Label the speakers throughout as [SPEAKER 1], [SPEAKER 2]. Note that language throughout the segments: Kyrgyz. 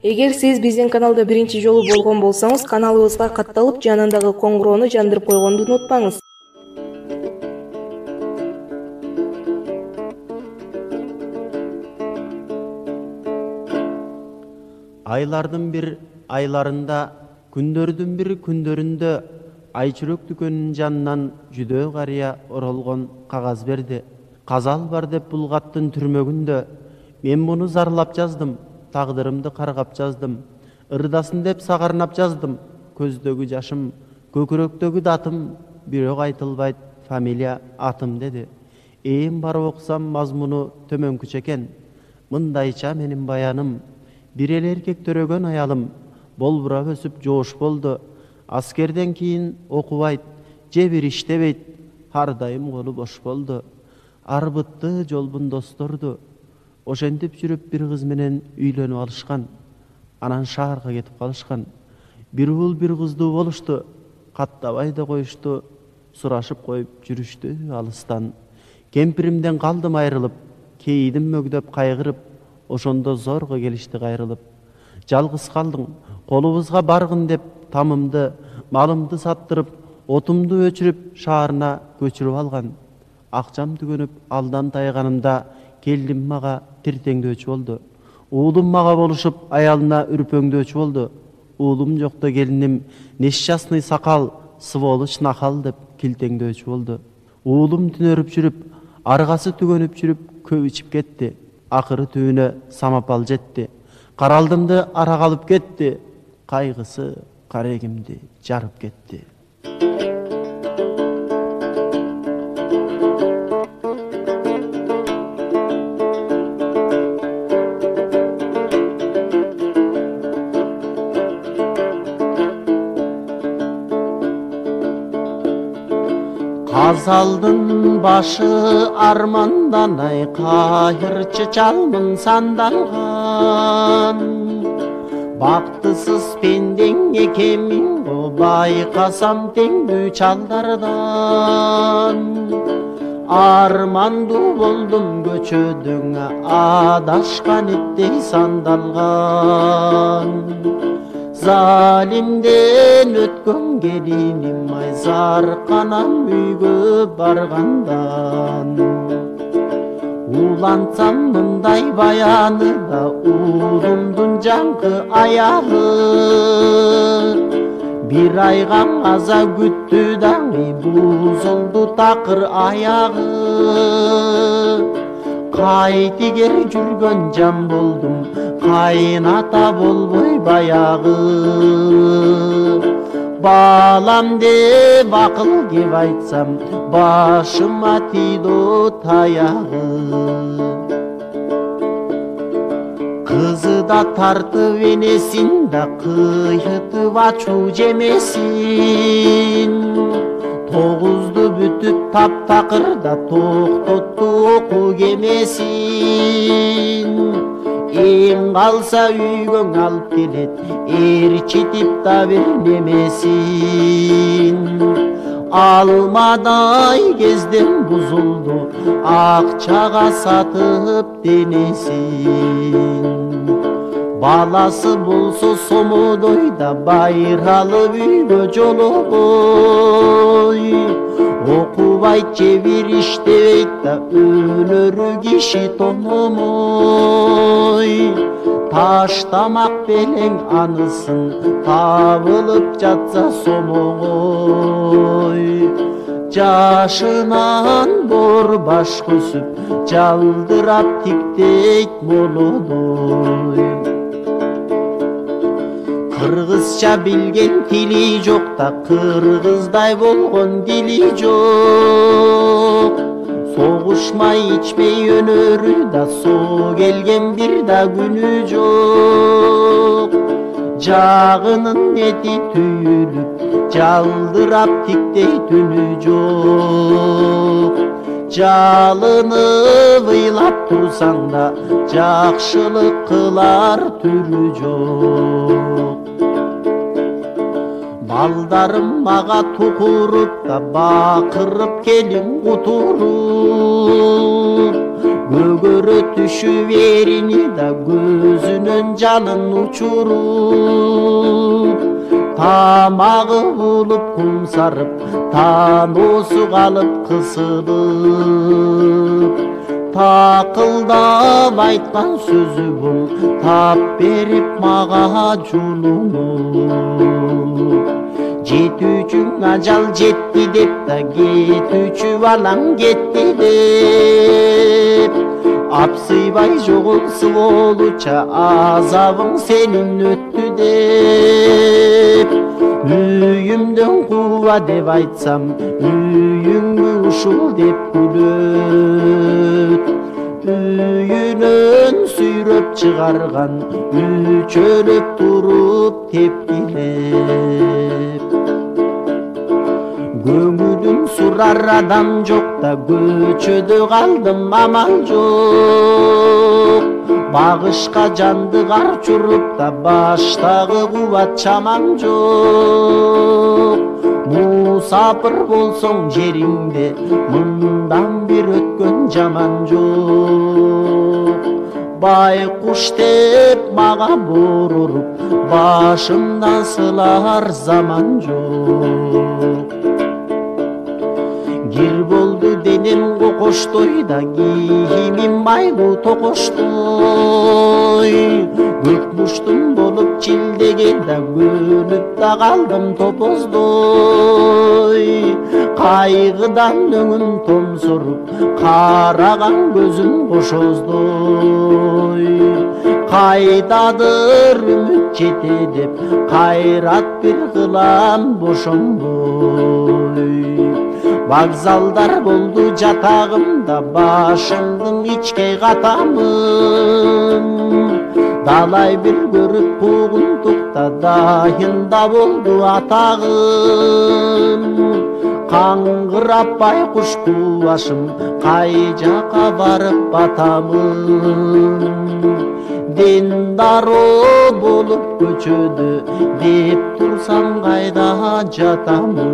[SPEAKER 1] Эгер сиз биздин каналда биринчи жолу болгон болсоңуз, каналыбызга катталып, жанындагы коңгуроону жандырып койгонду унутпаңыз.
[SPEAKER 2] Айлардын бир айларында, күндөрдүн бир күндөрүндө айчүрөк дүкөнүнүн жанынан жүдөө карыя оролгон кагаз берди. Казал бар деп булгаттын түрмөгүндө мен муну зарлап жаздым. Тагдырымды каргап жаздым, ырдасын деп сагарнап жаздым. Көздөгү жашым, көкүрөктөгү датым, бирок айтылбайт фамилия атым деди. Ээн барып окусам мазмуну төмөнкүчө экен. Мындайча менин баяным, бир эле эркек төрөгөн аялым, болбурап өсүп жоош болду. Аскерден кийин окубайт, же бир иштебейт, ар дайым колу бош болду. Арбытты жолбун досторду, ошентип жүрүп бир кыз менен үйлөнүп алышкан. Анан шаарга кетип калышкан. Бир уул бир кыздуу болушту, каттабай да коюшту, сурашып коюп жүрүштү алыстан. Кемпиримден калдым айрылып, кейидим мөгдөп кайгырып, ошондо зорго келишти кайрылып. Жалгыз калдың, колубузга баргын деп тамымды, малымды саттырып, отумду өчүрүп, шаарына көчүрүп алган. Акчам түгөнүп, алдан тайганымда келдим мага тиртеңдөөчү болду. Уулум мага болушуп, аялына үрпөңдөөчү болду. Уулум жокто келиним несчастный сакал, сволочь нахал деп килтеңдөөчү болду. Уулум түнөрүп жүрүп, аргасы түгөнүп жүрүп, көп ичип кетти. Акыры түбүнө самапал жетти. Каралдымды ара калып кетти. Кайгысы карегимди жарып кетти. Казалдын башы армандан ай, кайырчы чалмын сандалган. Бактысыз пендең экенмин го, байкасам теңдүү чалдардан. Армандуу болдум көчөдөң, адашкан иттей сандалган. Залимден өткөн келиним ай, зарканам үйгө баргандан. Улантсам мындай баяны да, уулумдун жаңкы аялы. Бир айга аза күттү даңы, бузулду такыр аягы. Кайтигер жүргөн жан болдум, кайната болбой баягы. Балам деп акыл кеп айтсам, башыма тийди таягы. Кызы да тартып энесин да, кыйытып ачуу жемесин. Тогузду бүтүп таптакырда, токтотту оку кемесин. Эң калса үйгөң алып келет, ээрчитип да бернемесин. Алмадай кезден бузулду, акчага сатып денесин. Баласы болсо сомодой да, байралып үйгө жолобой. Окубайт же бир иштебейт да, өлөрү киши тономой. Таштамак белең анысын, табылып жатса сомогой. Жашынан бор баш көсүп, жалдырап тиктейт молодой. Кыргызча билген тили жок да, кыргыздай болгон дили жок. Согушмай ичпей өнөрү да, соо келген бир да күнү жок. Жагынын эти түйүлүп, жалдырап тиктей түнү жок. Жалынып ыйлап турсаң да, жакшылык кылар түрү жок. балдарым мага тукуруп да бакырып келин кутуруп көгөрө түшүп эрини да көзүнөн жалын учуруп тамагы булуп кумсарып таноосу калып кысылып такылдап айткан сөзү бул тап берип мага жулунуп жетүүчүң ажал жетти деп да кетүүчү балаң кетти деп апсыйбай жоголсу болуча азабың сенин өттү деп үйүмдөн кууба деп айтсам үйүңбү ушул деп күлөт үйүнөн сүйрөп чыгарган үчөлөп туруп тепкилеп көңүлүн сурар адам жок да көчөдө калдым амал жок багышка жанды кар чуруп да баштагы кубат чамам жок мусапыр болсоң жериңде мындан бир өткөн жаман жок байкуш деп мага боруруп башымдан сылар заман жок кир болду денем кокоштой да кийимим майлуу токоштой көк муштум болуп чилдеген да көнүп да калдым топоздой кайгыдан өңүм томсоруп караган көзүм кошоздой кайдадыр үмүт жете деп кайрат бир кылам бошонбой вокзалдар болду жатагымда башымдын ичке катамын далай бир көрүп куугунтукта дайында болду атагым каңгырап байкуш башым кай жака барып батамын дендароо болуп көчөдө деп турсам кайда жатамын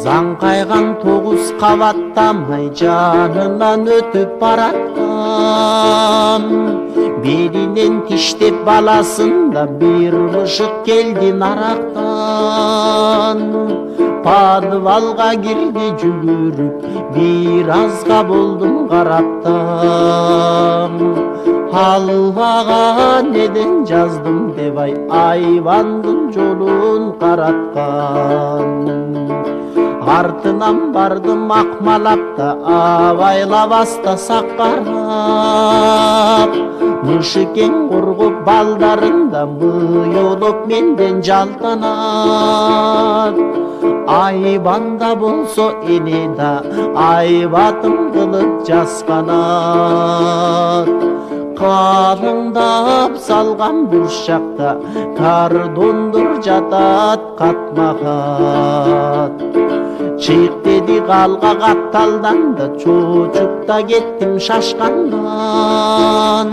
[SPEAKER 2] заңкайган 9 кабаттамай жанынан өтүп бараткам белинен тиштеп баласын да бир бышык келди нарактан подвалга кирди жүгүрүп бир азга болдум караптан аллага неден жаздым деп айбандын жолун караткан артынан бардым акмалап да абайлабаста саккарап мышыкең коргоп балдарын да мыйолоп менден жалтанат айбанда болсо эне да айбатым кылып жасканат калыңдап салган бурчакта кардондур жатат катма-кат чыйк деди калга катталдан да чочуп да кеттим шашкандан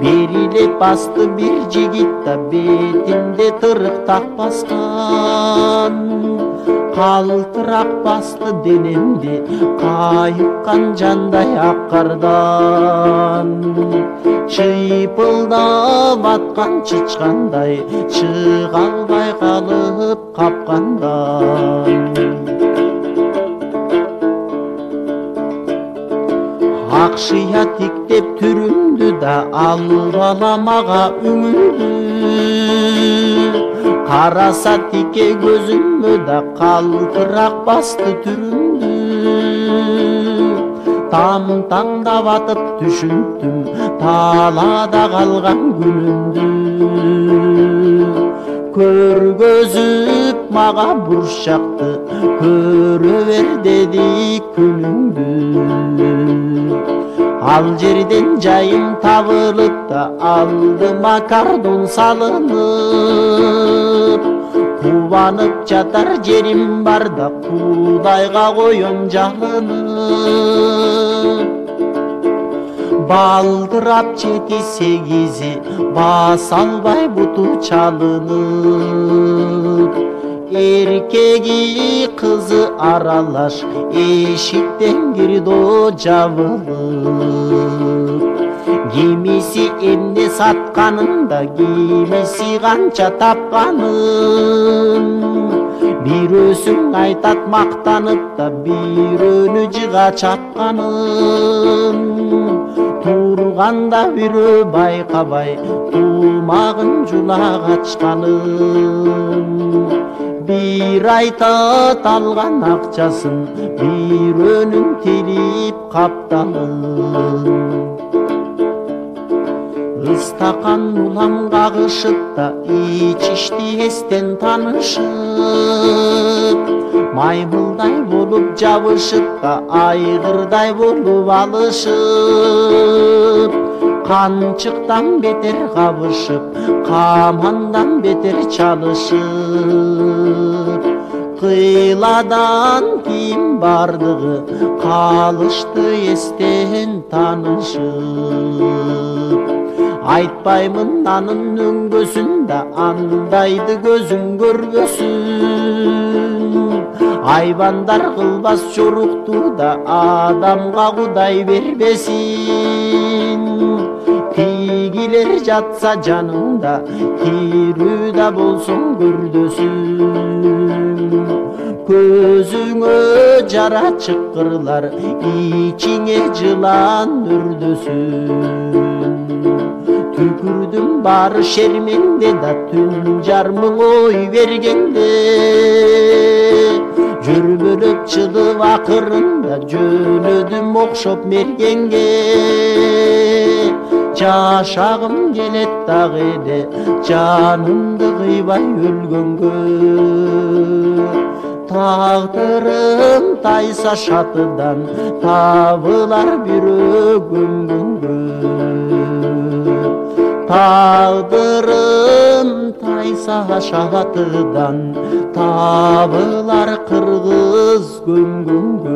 [SPEAKER 2] берилеп басты бир жигит да бетимде тырык так баскан калтырак басты денемди кайыккан жандай ак кардан чыйпылдап аткан чычкандай чыга албай калып капкандан акшыя тиктеп түрүмдү да албала мага үңүлдү караса тике көзүмө да калтырак басты түрүмдү там-таңдап атып түшүндүм талаада калган күнүмдү көргөзүп мага бурчакты көрө бер деди күнүңдү ал жерден жайым табылып да алдыма кардон салынып кубанып жатар жерим бар да Кудайга коем жалынып балдырап 7-8 баса албай буту чалынып, эркеги кызы аралаш эшиктен кирди жабылып. Кимиси эмне сатканында, кимиси канча тапканын, бирөөсүң айтат мактанып да, бирөөнү жыга чапканын. Турганда бирөө байкабай тумагын жула качканын. Bir айтат алган акчасын, бирөөнүн тилип капталын. Ыстакан улам кагышып да, ичишти эстен танышып, маймылдай болуп жабышып да, айгырдай болуп алышып, канчыктан бетер кабышып, камандан бетер чалышып, кыйладан кийин бардыгы калышты эстен танышып. Айтпаймын анын өңгөсүн да, андайды көзүң көрбөсүн. Айбандар кылбас жорукту да, адамга Кудай бербесин. Тигилер жатса жаныңда, тирүү да болсоң көрдөсүн. Көзүңө жара чыккырлар, ичиңе жылан өрдөсүн. Түкүрдүм бары шерменде да, түн жармың ой бергенде, жөрбөлөп чыдып акырында, жөнөдүм окшоп мергенге. Жашагым келет дагы эле, жанымды кыйбай өлгөнгө. Тагдырым тайса шатыдан, табылар бирөө көмгөнгө. Тагдырым тайса шатыдан, табылар кыргыз көмгөнгө.